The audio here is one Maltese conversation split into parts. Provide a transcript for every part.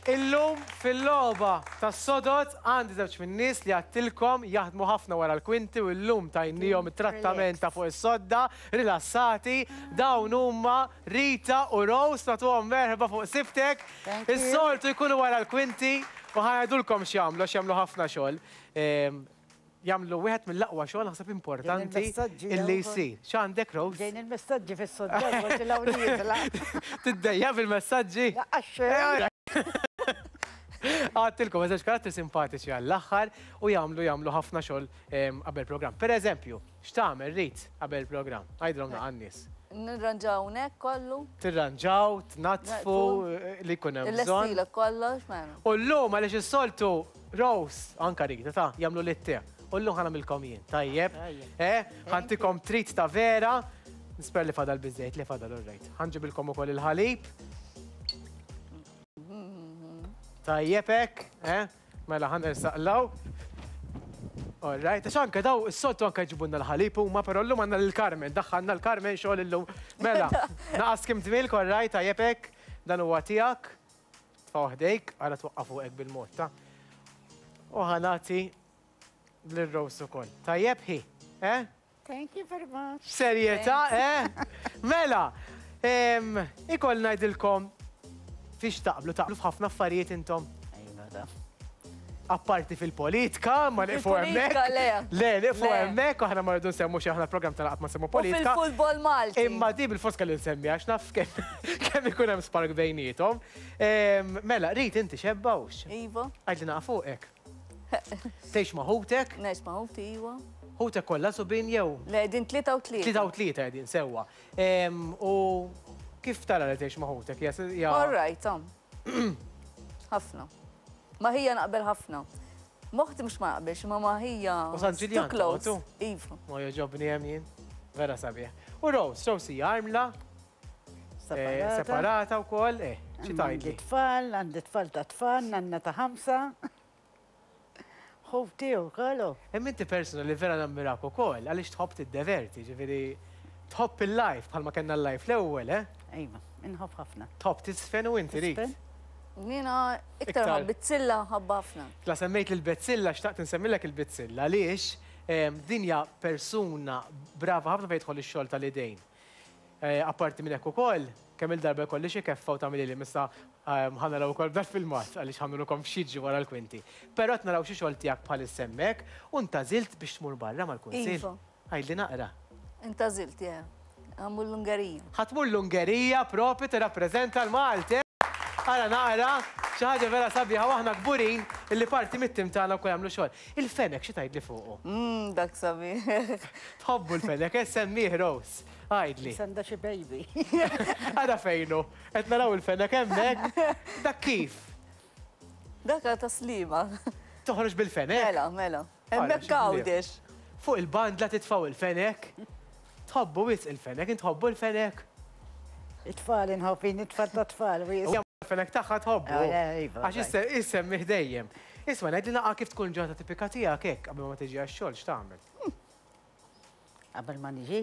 Illum fil-logħba tas-sodod għandi żewġ min-nies li għadtilkom jaħdmu ħafna wara l-kwinti u llum tajniehom it-trattament ta' fuq is-sodda, rilassati. Dawn huma Rita u Rose, nagħtuhom merħba fuq Sibtek. Is-soltu jkunu wara l-kwinti u ħa ngħidulkom x'jagħmlu għax jagħmlu ħafna xogħol. Jagħmlu wieħed mill-aqwa xogħol naħseb importanti illi jsir. X'għandek Rose? Ġejn il-messaġġi fis-sodda forsi l-hawn nieżla. Tiddejjaq bil-messaġġi? Laqqas xejn. Għadtilkom żewġ karattri simpatiċi għall-aħħar u jagħmlu jagħmlu ħafna xogħol qabel programm. Per eżempju, x'tagħmel Rit qabel programm? Għidilhom naqa' n-nies. Nirranġaw hawnhekk kollu. Tirranġaw, tnaddfu li jkun hemm bżonn. Illestilek kollox, mela. U llum għaliex is-soltu Rose, anka Rita, ta' jagħmlu li te. U llum ħa nagħmilkom jien, tajjeb? Eh, ħa ntikom treat ta' vera. Nisper li fadal biżejt, li fadal all right. Ħa nġibilkom ukoll il-ħalib. Tajjeb hekk, eh? Mela ħa nersaqlaw. All right, għax anke daw is-soltu anke jġibulna l-ħalib huma, però llum għandna lil Carmen, daħħalna l-Carmen xogħol illum. Mela, naqas kim tmilk, all right, tajjeb hekk, dan huwa tiegħek. Tfgħu ħdejk, ara twaqqa' fuqek bil-mod ta'. U ħa nagħti lil Rose ukoll. Tajjeb hi, eh? Thank you very much. Serjetà, eh? Mela, ikoll ngħidilkom fiex taqblu, taqblu f'ħafna affarijiet intom. Iva, da. Apparti fil-politika, ma nieqfu hemmhekk. Fil-politika, le. Le, nieqfu hemmhekk, aħna ma rridu nsemmu xi aħna l-programm tagħna qatt ma nsemmu politika. U fil-futbol Malti. Imma di bil-fors kelli nsemmi għax naf kemm ikun hemm spark bejniethom. Mela, Rit inti xebba hux? Iva. Għidli naqa' fuqek. Tgħix ma' ħutek? Ngħix ma' ħuti, iva. Ħutek kollha subien jew? Le, qegħdin 33. 33 qegħdin sewwa. U kif tara li tgħix ma' ħutek? All right, Ħafna. Ma' ħija naqbel ħafna. M'oħti mhux ma naqbilx, imma ma' ħija. U San Ġiljan toqgħodu? Iva. Ma jogħġobni hemm jien. Vera sabiħ. U Rose, Rose hija armla. Separata. Separata wkoll, eh, xi tgħidli? Għandi tfal, għandi tfal ta' tfal, nanna ta' ħamsa. Ħuti wkoll. Imma inti persuna li vera nammirak ukoll għaliex tħobb tiddeverti, ġifieri tħobb il-life bħalma kellna l-life l-ewwel, eh? Iva, inħobb ħafna. Tħobb tiżfen u inti Rit. Jiena iktar nħobb bizzilla nħobbha ħafna. La semmejt lill-Bezzilla xtaqt insemmilek il-Bizzilla għaliex din hija persuna brava ħafna fejn jidħol ix-xogħol tal-idejn. Apparti minn hekk ukoll, kemm-il darba jkolli xi keffa u tagħmilili m'issa ħa naraw ukoll b'dal-filmat għaliex ħa nurukom x'jiġri wara l-kwinti. Però qed naraw xi xogħol tiegħek bħalissa hemmhekk u ntgħażilt biex tmur barra mal-Kunsill. Iva. Għidli naqra. Intgħażilt, yeah. Ħa mmur l-Ungerija. Ħa tmur l-Ungerija propju tirrappreżenta l-Malti, eh! Ara naqra, xi ħaġa vera sabiħa u aħna kburin illi parti mit-tim tagħna wkoll jagħmlu xogħol. Il-fenek xi tgħidli fuqu? Umm dak sabiħ. Tħobbu l-fenek, eh semmih Rose. Għidli. Issa għandha xi baby. Ara fejn hu. Qed naraw il-fenek hemmhekk. Dak kif? Dak ta' Sliema. Toħroġ bil-fenek? Mela, mela. Hemmhekk Għawdex. Fuq il-bandla titfgħu il-fenek. Tħobbu wisq il-fenek, int tħobbu l-fenek? It-tfal inħobb jien, it-tfal tat-tfal wisq. Il-fenek tagħha tħobbu. Iva. Għax issemmih dejjem. Isma' ngħidli naqa' kif tkun ġurnata tipika tiegħek hekk qabel ma tiġi għax-xogħol x'tagħmel? Qabel ma niġi?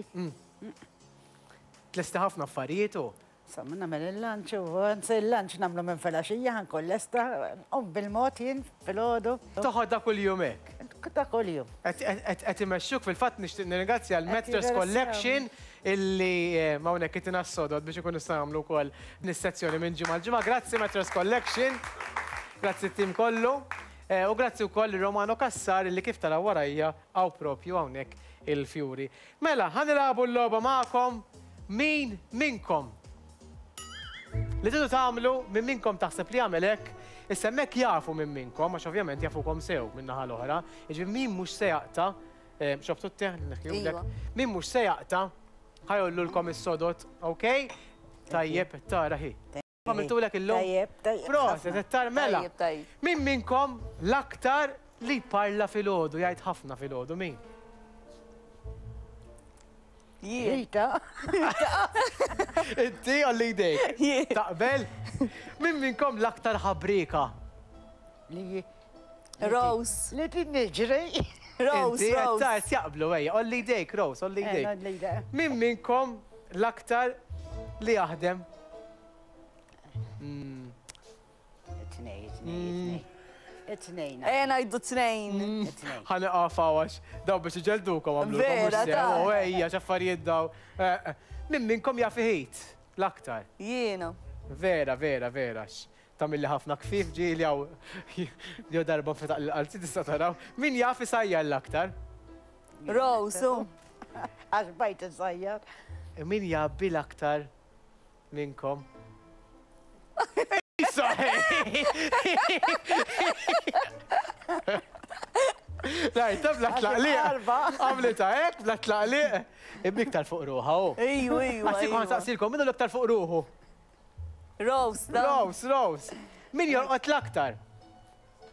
Tlesti ħafna affarijiet u? Insomma, nagħmel il-lunch u anzi il-lunch nagħmlu minn filgħaxija ħa nkun lesta, nqum bil-mod jien filgħodu. Toħodha kuljum hekk? Ta' kuljum. Qed imexxuk fil-fatt nixtieq nirringrazzja l-Mattress Collection illi hawnhekk itina s-sodod biex ikunu nistgħu nagħmlu wkoll din is-sezzjoni minn ġimgħa għal ġimgħa. Grazzi Mattress Collection. Grazzi t-tim kollu. U grazzi wkoll lil Romano Cassar illi kif taraw warajja hawn propju hawnhekk il-fjuri. Mela, ħa nilagħbu l-logħba magħkom Min minnkom? Li tridu tagħmlu, min minnkom taħseb li jagħmel hekk, issa hemmhekk jafu min minnkom, għax ovvjament jafukom sew min-naħa l-oħra, jiġifieri min mhux se jaqta', xrobtu t-te li neħħihulek? Iva. Min mhux se jaqta' ħa jgħollulkom is-sodod, ok? Tajjeb, tara hi. Għamiltulek illum? Tajjeb, tajjeb. Proset, qed tar mela. Tajjeb, tajjeb. Min minnkom l-aktar li jparla filgħodu, jgħid ħafna filgħodu, min? Jien. Rita. Inti għalli jdejk. Jien. Taqbel? Min minnkom l-aktar ħabrieka? Li Rose. Li niġri. Rose, Inti qed Rose. tard jaqblu ejja, għolli jdejk, Rose, għolli Eh, jdejk. għolli jdejk. Min minnkom l-aktar li jaħdem? It-tnejn, it-tnejn, it-tnejn. It-tnejn. Ejja ngħidu tnejn. It-tnejn. Ħa nieqaf hawn għax daw biex iġelldukom għamlulkom mhux Vera, sew. ta. U ejja x'affarijiet daw. Eh, eh. Min minnkom jaf iħit l-aktar? Jiena. Vera, vera, vera. x- Tagħmilli ħafna kfif ġieli hawn jew darba nfetaq l-qalzi tista' taraw. Min jaf isajjar l-aktar? Rose, u. Għax bajt insajjar. Min jgħabbi l-aktar minnkom? Isa! Rajta bla tlaqliq. Arba. Għamlita hekk bla tlaqliq. Imma iktar fuq ruħha hu. Ejju, ejju. Għax kont ejju. saqsilkom minnu l-iktar fuq ruħu. Rose, da. Rose, Rose. Min jorqod l-aktar?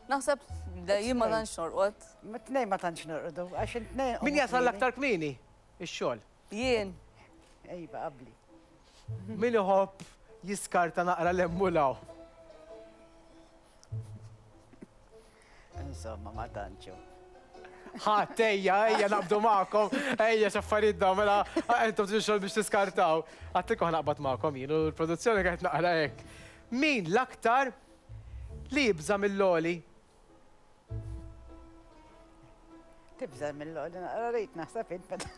Naħseb le, jien ma tantx norqod. Ma tnejn ma tantx norqdu, għax it-tnejn. Min jasal l-aktar kmieni? Ix-xogħol. Jien. Ejba, qabli. Min iħobb jiskarta naqra l-emmulaw? Insomma, ma tantxu. Ħadd, ejja, ejja, naqbdu magħkom, ejja, x'affarijiet dawn, mela, intom tridu xogħol biex tiskartaw. Għattilkom ħa naqbad magħkom jien u l-produzzjoni qed naqra hekk. Min l-aktar li jibża' mill-għoli? Tibża' mill-għoli, naqra rrid naħseb int meta.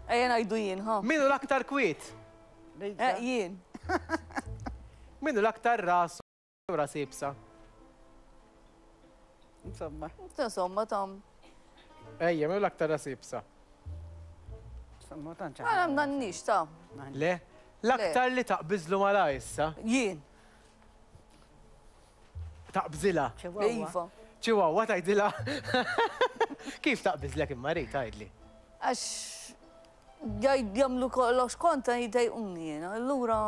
Ejja ngħidu jien, ha. Min hu l-aktar kwiet? Eh, jien. Min hu l-aktar rasu ras iebsa? Insomma. Insomma, tam. Ejja, min hu l-aktar ras iebsa? Insomma, tantx. Għana m'għandniex, ta. Le? L-aktar li taqbiżlu malajr issa? Jien. Taqbżilha? Iva. Chihuahua tgħidilha? Kif taqbiżlek imma Rita tgħidli? Għax jagħmlu kollox kontra jdejquni jiena, allura.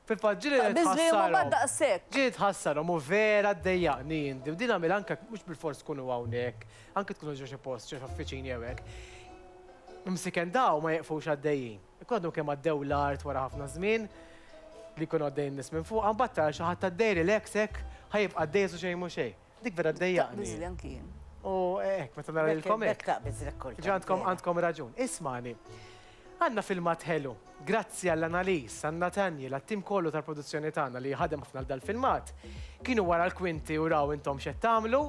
Fil-fatt ġieli Taqbiżli imma tħassarhom. ma daqshekk. Ġieli tħassarhom u vera ddejjaqni jien u din nagħmilha anke mhux bilfors tkunu hawnhekk, anke tkunu ġo xi post, ġo xi uffiċini jew hekk. Imsiken daw ma jeqfux għaddejjin. Ikun għadhom kemm għaddew l-art wara ħafna żmien li jkunu għaddejjin nies minn fuq, mbagħad tara xi ħadd għaddej relax hekk ħa jibqa' għaddej su xejn mhu xejn. Dik vera ddejjaqni. Taqbiżli anki jien. U hekk meta nara lilkom hekk. Taqbiżlek kultant. Ġa għandkom għandkom raġun. Ismani. Għandna filmat ħelu. Grazzi għall-Annalise, għal Nathaniel, għat-tim kollu tal-produzzjoni tagħna li ħadem ħafna għal dal-filmat. Kienu wara l-kwinti u raw intom x'qed tagħmlu.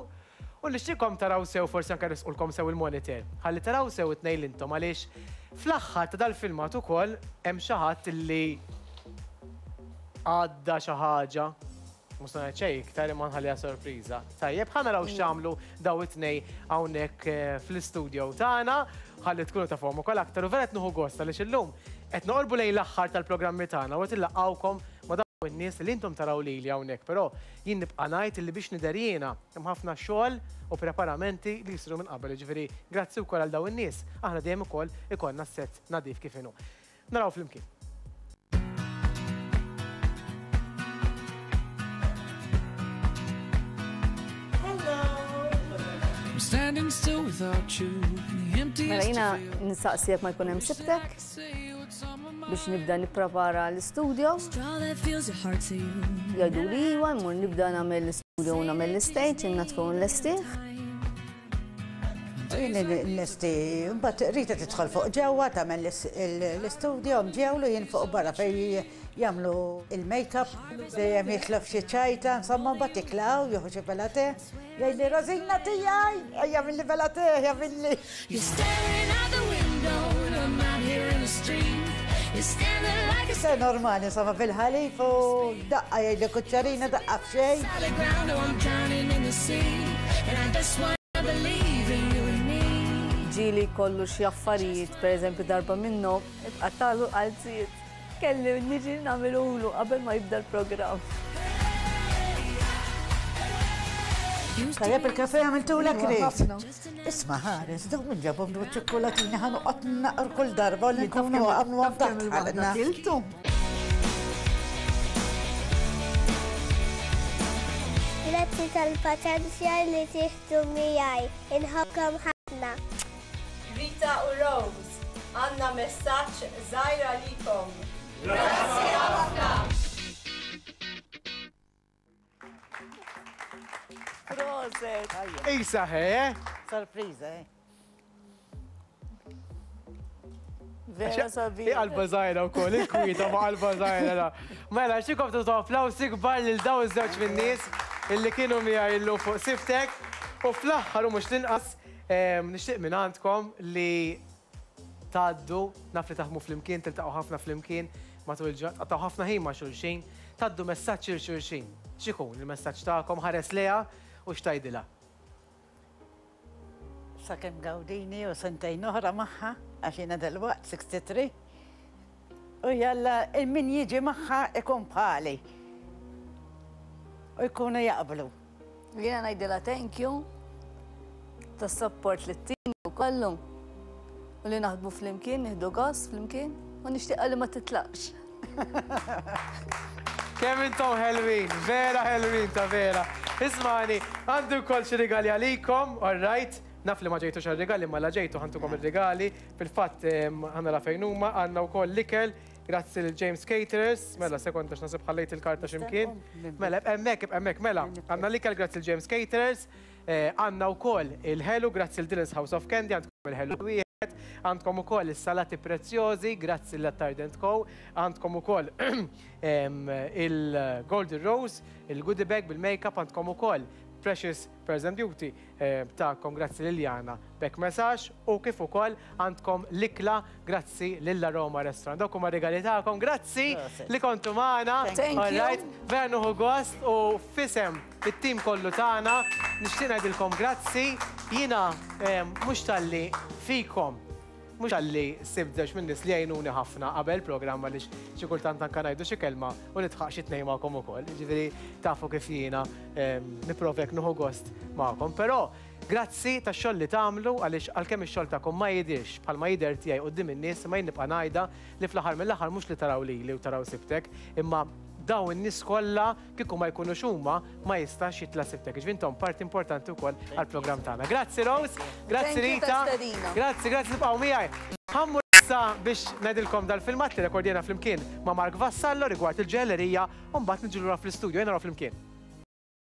U nixtieqkom taraw sew forsi anke resqulkom sew il-monitor. Ħalli taraw sew it-tnejn li intom għaliex fl-aħħar ta' dal-filmat ukoll hemm xi ħadd li għadda xi ħaġa. Mhux se ngħid xejn iktar imma nħalliha sorpriża. Tajjeb, ħa naraw x'għamlu daw it-tnejn hawnhekk eh, fl-istudio tagħna, ħalli tkunu tafhom ukoll aktar u vera qed nieħu gost għaliex illum qed noqorbu lejn l-aħħar tal-programmi tagħna u qed illaqgħukom ma' dawn in-nies li intom taraw lili hawnhekk, però jien nibqa' ngħid li biex nidher jiena hemm ħafna xogħol u preparamenti li jsiru minn qabel, jiġifieri grazzi wkoll għal dawn in-nies, aħna dejjem ukoll ikollna s-sett nadif kif inhu. Naraw flimkien. I'm standing still without you in the emptiest Mela jiena of fields. nsaqsi jekk ma jkun hemm sibtek biex nibda nipprepara l-istudio. Straw that fills your heart to you. Jgħidu li iwa, mmur nibda nagħmel l-istudio u nagħmel l-stage, innatfu nlestih. Jien nlesti, mbagħad Rita tidħol fuq ġewwa tagħmel l-istudio mġewlu jien fuq barra fejn jagħmlu il-makeup, dejjem jitlob xi ċajta, insomma mbagħad jiklaw, jieħu xi bella te, jgħidli Rosina tiegħi, ejja milli bella te, ejja milli. You're staring out the window and I'm out here in the street. You're standing like a Se normali, insomma fil-ħalif u daqqa jgħidli kuċċarina, daqqa f'xejn. solid ground, oh I'm drowning in the sea. And I just wanna believe in you and me. Ġieli kollu xi affarijiet, per eżempju darba minnhom, itqattalu qalziet. Kelli niġi nagħmilulu qabel ma jibda l-programm. Tajjeb il-kafe għamiltulek Iva, Rit? ħafna. Isma' ħares, dawn minn ġabhom dawn ċikkulatini ħa noqgħod naqr kull darba li nkunu għamlu taħt ħalqna. Kiltu. Grazzi tal-paċenzja li tieħdu miegħi. Inħobbkom ħafna. Rita u Rose, għandna messaġġ żgħir għalikom. Grazzi ħafna! Proset! Isa, he, eh? Sorpriża, eh? Vera sabiħ. Hi qalba żgħira wkoll, il-kwieta ma qalba żgħira la. Mela, xikom tutu applawsi kbar lil dawn iż-żewġ min-nies illi kienu miegħi illum fuq Siftek. U fl-aħħar u mhux l-inqas, nixtieq minn għandkom li tgħaddu, naf li taħdmu flimkien, tiltaqgħu ħafna flimkien matul il-ġurnata, tqattgħu ħafna ħin ma' xulxin, tgħaddu messaġġ lil xulxin. X'ikun il-messaġġ tagħkom? Ħares lejha u x'tgħidilha? Sakemm gawdini u sentejn oħra magħha, għax jiena dalwaqt 63. U jalla min jiġi magħha ikun bħali. U jkunu jaqblu. Jiena ngħidilha thank you tas-support li ttini u kollu. U li naħdmu flimkien, nieħdu gost flimkien u nixtieqha li ma titlaqx. Kemm intom ħelwin, vera ħelwin ta' vera. Ismani, għandi wkoll xi rigali għalikom, all right? Naf li ma ġejtux għar-rigali, imma la ġejtu ħantukom ir-rigali. Fil-fatt ħa nara fejn huma, għandna wkoll l-ikel, grazzi lil James Caterers. Mela, sekonda x'naħseb ħallejt il-karta x'imkien. Mela, ibqa' hemmhekk, ibqa' hemmhekk, mela. Għandna l-ikel grazzi lil James Caterers. Għandna wkoll il-ħelu grazzi lil Dylan's House of Candy, għandkom il-ħelu wieħed. Għandkom ukoll is-salati prezzjożi grazzi lil Attard Co. Għandkom ukoll il-Golden Rose, il-goodie bag bil-makeup, għandkom ukoll Precious Pearls and Beauty tagħkom grazzi lil Jana Beck Messax u kif ukoll għandkom l-ikla grazzi lil Aroma Restaurant. Dawk huma r-rigali tagħkom. Grazzi li kontu magħna. Thank you. Vera nieħu gost u f'isem it-tim kollu tagħna nixtieq ngħidilkom grazzi. Jiena mhux talli fikom, mhux talli sibt żewġ min-nies li jgħinuni ħafna qabel programm għaliex xi kultant anke ngħidu xi kelma u nidħaq xi tnejn magħkom ukoll. Jiġifieri tafu kif jiena nipprova hekk nieħu gost magħkom. Però grazzi tax-xogħol li tagħmlu għaliex għalkemm ix-xogħol tagħkom ma jidhirx bħalma jidher tiegħi quddiem in-nies imma jien nibqa' ngħidha li fl-aħħar mill-aħħar mhux li taraw lili u taraw sibtek imma dawn in-nies kollha kieku ma jkunux huma ma jistax jitla' sibtek. Jiġifieri intom parti importanti wkoll għall-programm tagħna. Grazzi Rose, grazzi Rita, grazzi, grazzi tibqgħu miegħi. Ħa mmur issa biex ngħidilkom dal-filmat li rekordjajna flimkien ma' Mark Vassallo rigward il-ġojellerija u mbagħad niġu lura fl-istudio. Ejja naraw flimkien.